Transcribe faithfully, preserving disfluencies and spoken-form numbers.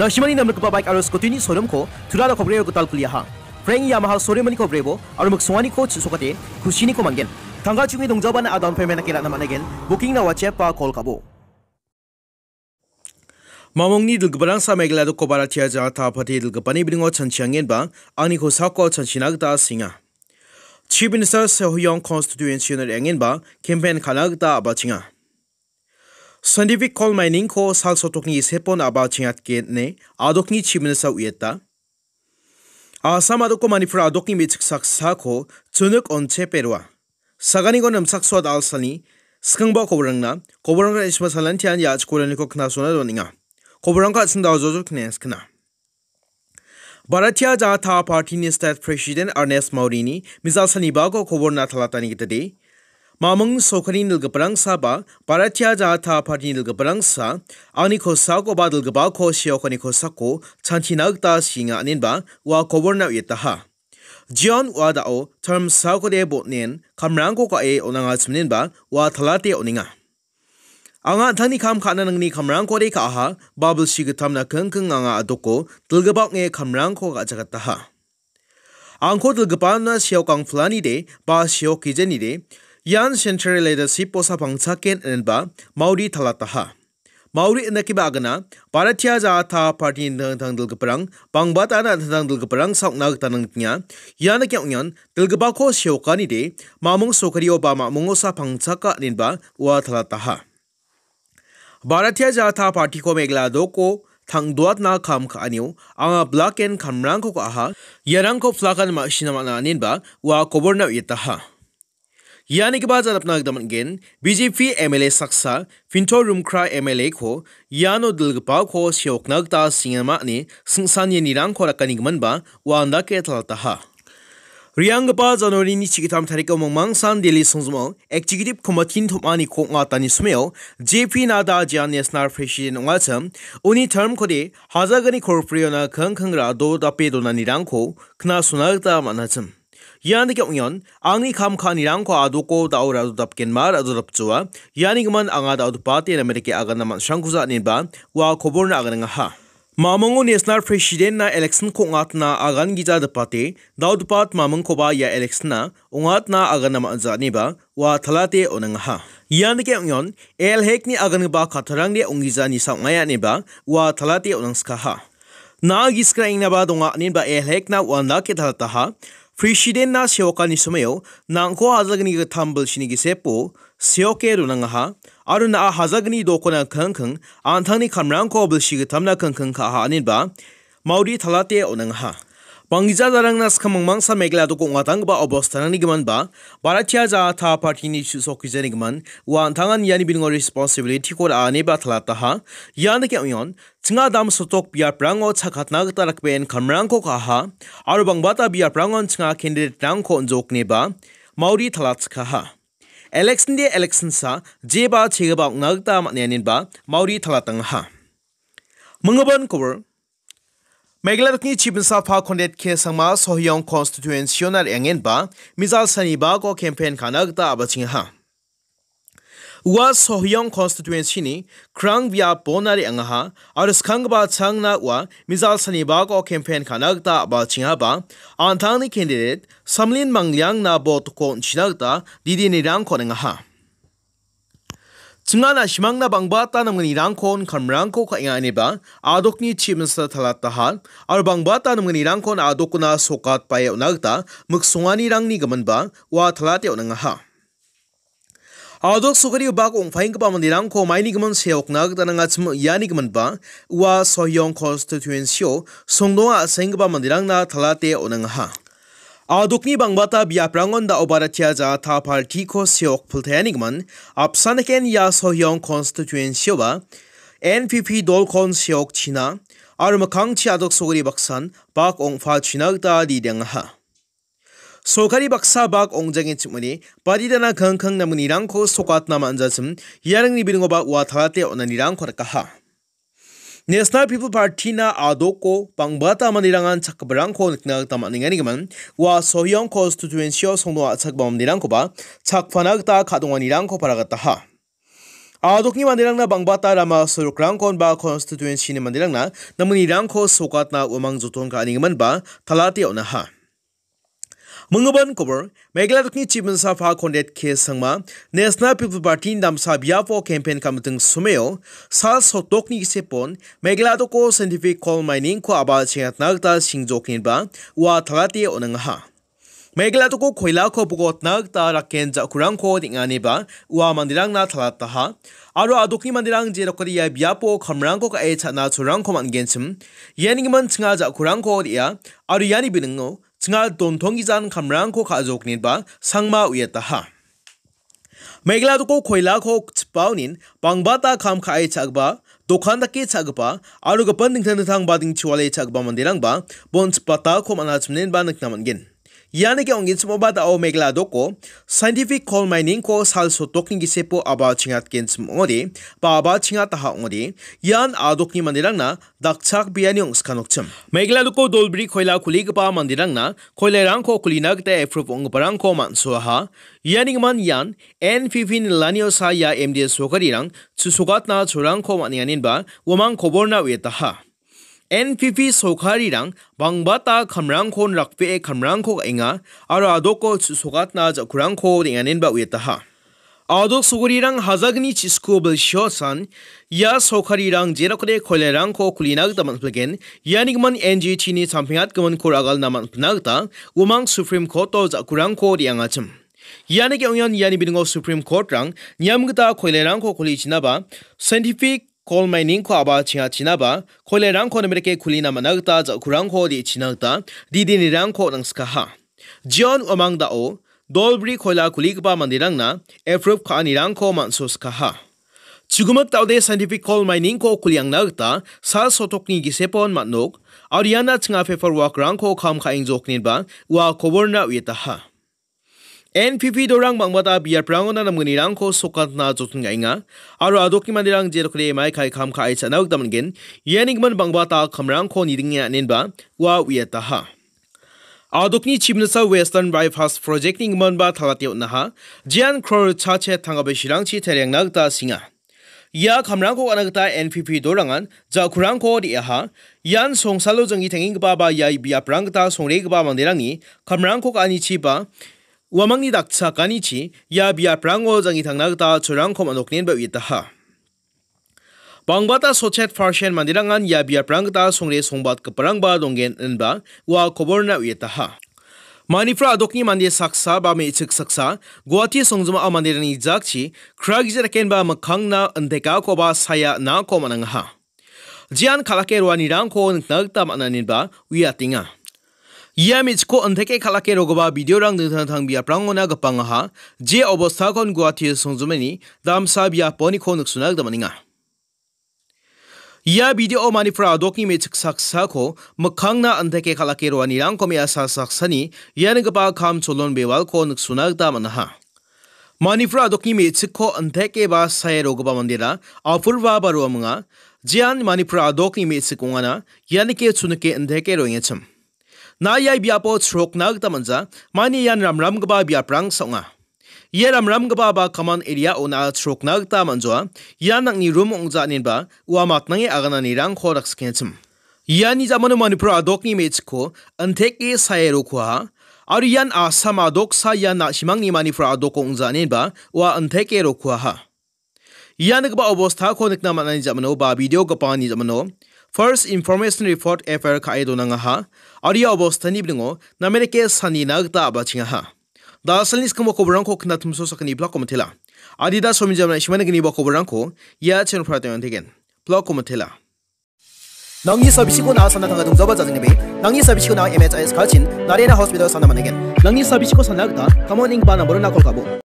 Na·simani namrikgipa baik aro scooty-ni showroom-ko Tura Rokhobrio gital kuliaha. Frank Yamaha showroom-niko brebo aro miksonganiko chisokate kusiniko man·gen. Tangka chungi dongjabana a-down payment-nake ra·na man·aigen. Booking-na WhatsApp-ba call ka·bo. Mamungni dilgiparangsa Meghalaya doko Bharatiya Janata Party dilgipani bilingo chanchiangenba angni kosako chanchina gita sienga. Chief Minister Sohiyong constituency-ona re·angenba campaign ka·na gita a·bachenga. Scientific coal mining-ko sal sotokni gisepon a·bachengatgen ine adokni Chief Minister uieta. Assam adoko Manipur adokni me·chik saksako chunuk onche perua. Saganiko nimsaksoa dal·salni skangba koborangna, koborangna isma salantian ya·chikoraniko knasona doninga. Koborangko a·sing daojojo knes kna. Bharatiya Janata Party-ni State President Ernest Modi-ni mijal sanibako koborna talatani gitade, Mamung sorkarini dilgiparangsa ba Bharatiya Janata Party-ni dilgiparangsa angni kosako ba dilgipako seokani kosako chanchina gita sienga inenba ua koborna uietaha. Jion ua da·o term sakode botnen kamrangko ka·e on·angachimnenba ua talate on·enga. Anga an·tangni kam ka·na nangni kamrangkode ka·aha, ba bilsi gitamna kingking anga adoko dilgipa ong·e kamrangko ka·jakataha. Angko dilgipana seok angplanide ba seok gijenide, ian central leadership-o sapangchaken inenba Modi talataha. Modi indakiba agana Bharatiya Janata Party-ni dingtang dingtang dilgiparang, bangbata na dingtang dilgiparang saokna gita nangnikenga. Ian dake ong·ian dilgipako seokanide, mamung sorkario ba mamungo sapangchaka inenba ua talataha. Bharatiya Janata Party-ko Meghalaya doko tangdoatna kam ka·anio anga black and kamrangko ka·aha, iarangko plakan ma·sina man·a inenba ua koborna uietaha. Ianigipa janapna gita man·gen, B J P M L A saksa, Pinto Rumkra M L A-ko iano dilgipako seokna gita singama ine singsangenirangko rakanigiminba ua andake talataha. Rianggipa January-ni chigitam tariko mingmangsan Delhi songjimo Executive Committee-ni tom·aniko ong·atani somao J P Nadda jean National President ong·achim, uni term-kode hajalgni korpriona kingking ra·do dape donanirangko knasona gita man·achim. Ian dake ong·ian, angni kam ka·anirangko adoko da·o ra·do dapgenma ra·do dapjoa, iani gimin anga da·o dipate namerike agana man·srangkuja inenba ua koborna aganangaha. Mamungo National President-na election-ko ong·atna agan gija dipate, da·o dipat mamungkoba ia election-na ong·atna agana man·ja ineba ua talate on·angaha. Ian dake ong·ion, A L hekni agangipa kattarangde ong·gija nisa ong·aia ineba ua talate on·angskaha. Na·a gisik ra·engnaba donga ineba A L hekna ua andake talataha. President-na seokani somao nangko hajalgni gittam bilsini gisepo seoke donangaha, aro na·a hajalgni dokona kingking an·tangni kamrangko bilsi gittamna kingking ka·aha ineba Modi talate on·angaha. Banggija darangna skang mingmangsa Meghalaya doko ong·atanggipa obostarangni giminba Bharatiya Janata Party-ni chu·sokgijani gimin ua an·tangan iani bilingo responsibility-ko ra·a ineba talataha. Ian dake ong·ion, chinga dam sotok biaprango chakatna gita dakbeen kamrangko ka·aha, aro bangbata biaprangon chinga candidate-rangko on·jokneba Modi talatskaha. Election de election sa, jeba chegaba ong·na gita man·enenba Modi talatangaha. Minggipan kobor. Meghalaya dokni Chief Minister Conrad K Sangma Sohiong constituency-ona re·angenba mijal sanibako campaign ka·na gita a·bachengaha. Ua Sohiong constituency-ni krang biapona re·angaha aro skanggipa changna ua mijal sanibako campaign ka·na gita a·bachengaba an·tangni candidate Samlin Mangliangna vote-ko on·china gita didinirangko on·engaha. Chinga na·simangna bangbata namgnirangko on·kamrangko ka·enga ineba adokni Chief Minister talataha aro bangbata namgnirangkon adokona sokatbae on·a gita miksonganirangni giminba ua talate on·angaha. Adok sokari bak ong·paenggipa manderangko maini gimin seokna gita nangachim iani giminba ua Sohiong constituency-o songdonga a·senggipa manderangna talate on·angaha. Adokni bangbata biaprangon da·o Bharatiya Janata Party-ko seok piltaeni gimin, apsan eken ia Sohiong constituency-oba N P P dolkon seok china aro mikkangchi adok sokari baksan bak ong·pa china gita didengaha. Sorkari baksa bak ong·jangenchimode, badidana kangkang namgnirangko sokatna man·jachim, iarangni bilingoba ua talate on·anirangko rikaha. National People Party-na adoko bangbata manderangan chakgiparangko nikna gita man·enganigimin, ua Sohiong constituency-o songdong a·chakgipa manderangkoba chakpana gita ka·donganirangko paragataha. A·dokni manderangna bangbata rama sorokrangkon ba constituency-ni manderangna namanirangko sokatna uamang joton ka·anigimin ba talate on·aha. Minggipan kobor, Meghalaya dokni Chief Minister Conrad K Sangma, National People Party-ni damsa biapo campaign ka·miting someo, sal sotokni gisepon, Meghalaya doko scientific coal mining-ko a·bal chengatna gita singjokniba ua talate on·angaha. Meghalaya doko koilako bogotna gita raken ja·kurangko deng·aniba ua manderangna talataha. Aro a·dokni manderang jerokode ia biapo kamrangko ka·e cha·na cholrangko man·genchim. Ianigimin chinga ja·kurangko re·a, aro iani biningo chinga dontonggijan kamrangko ka·jokniba Sangma uiataha. Meghalaya doko koilako chipaonin bangbata kam ka·e cha·gipa, dokan dake cha·gipa, aro gipin dingtang dingtang bading chiwale cha·gipa manderangba bon chipatako man·achimnenba nikna man·gen. Ianike ong·genchimoba da·o Meghalaya doko scientific coal mining-ko sal sotokni gisepo a·bal chengatgenchim ong·ode, ba a·bal chengataha ong·ode, ian a·dokni manderangna dakchakbeani ong·skanokchim. Meghalaya doko dolbri koila kuligipa manderangna koilarangko kulina gita approve ong·giparangko man·soaha. Ianigimin ian N P P nilani osa ia M D A sorkarirang chu·sogatna cholrangko man·enganinba uamang koborna uiataha. N P P sorkarirang bangbata kamrangkon rakbee kamrangko ka·enga aro a·doko chu·sogatna ja·kurangko re·angenba uiataha. A·dok sorkarirang hajalni chisiko bilsio san ia sorkarirang jerokode koilarangko kulina gita man·pilgen, ianigimin N G T-ni sampengatgiminko ragalna man·pilna gita uamang Supreme Court-o ja·kurangko re·angachim. Ianike ong·ian iani biningo Supreme Court-rang niam gita koilarangko kulichinaba, scientific coal mining-ko a·bal chengachinaba, koilarangko namerike kulina man·a gita ja·kurangko re·china gita didinirangko nangskaha. Jeon uamang da·o dolbri koila kuligipa manderangna approve ka·anirangko man·soskaha. Chugimik da·ode scientific coal mining-ko kuliangna gita sal sotokni gisepon man·nok, aro iana chinga paperwork-rangko kam ka·engjoknenba ua koborna uiataha. N P P dorang bangbata biaprangona namgnirangko sokatna joton ka·enga, aro a·dokni manderang jerokode mai kai kam ka·e cha·na gita man·gen, ianigimin bangbata kamrangko nidinge anenba ua uiataha. A·dokni Chief Minister Western Bypass Project-ni giminba talate on·aha, jean crore chache tanggabe shirangchi tariangna gita singa. Ia kamrangko ka·na gita N P P dorangan ja·kurangko re·aha. Ian songsalo janggi tangenggipa ba ia biaprang gita songregipa manderangni kamrangko ka·anichiba uamangni dakchakanichi ia biaprango janggi tangna gita cholrangko man·oknenba uiataha. Bangbata sotchet percent manderangan ia biaprang gita songre songbatgiparangba donggen inba ua koborna uiataha. Manipur a·dokni mande saksa ba me·chik saksa Guwahati songjinmao manderangni jakchi kragija dakenba mikkangna intekakoba saia inako man·angaha. Jean kal·ake roanirangko nikna gita man·a ineba uiatenga. Ia me·chikko inteke kal·ake rogipa video-rang dingtang dingtang biaprangona gipangaha, je obostakon Guwahati songjinmani damsa biaponiko niksona gita man·enga. Ia video-o Manipur a·dokni me·chik saksako mikkangna inteke kal·ake roanirangko me·asa saksani ianigipa kam cholon bewalko niksona gita man·aha. Manipur a·dokni me·chikko inteke ba sae rogipa mandera Apurva Baruah ong·a. Jean Manipur a·dokni me·chik ong·ana, ianike chunike inteke roengachim. Na ia biapo chrokna gita man·ja, mani ian ramramgipa biaprangsa ong·a. Ia ramramgipa ba common area-o na·a chrokna gita man·joa, ian nang·ni rum ong·ja inenba ua matnange agananirangko dakskengachim. Iani jamano Manipur a·dokni me·chikko inteke sae rokuaha, aro ian Assam a·doksa ian na·simangni Manipur a·dok ong·ja inenba ua inteke rokuaha. Ia nikgipa obostako nikna man·ani jamano ba video gipani jamano First Information Report F I R ka·e donangaha, aro ia obostani bilingo namerike sanina gita a·bachengaha. Da·alni skimo koborangko knatimso sakani blog-ko mitela. Adida somi jamna ishmana gniba koborangko ia channel-o prateng antegen. Blog-ko mitela. Nangni sabisiko na·a sana tangka dongzaba jajengnibe. Nangni sabisiko na·a M H I S kalchin, Narayana Hospital sana man·egen. Nangni sabisiko sana gita, kamon ning ba nambaro na call ka·bo.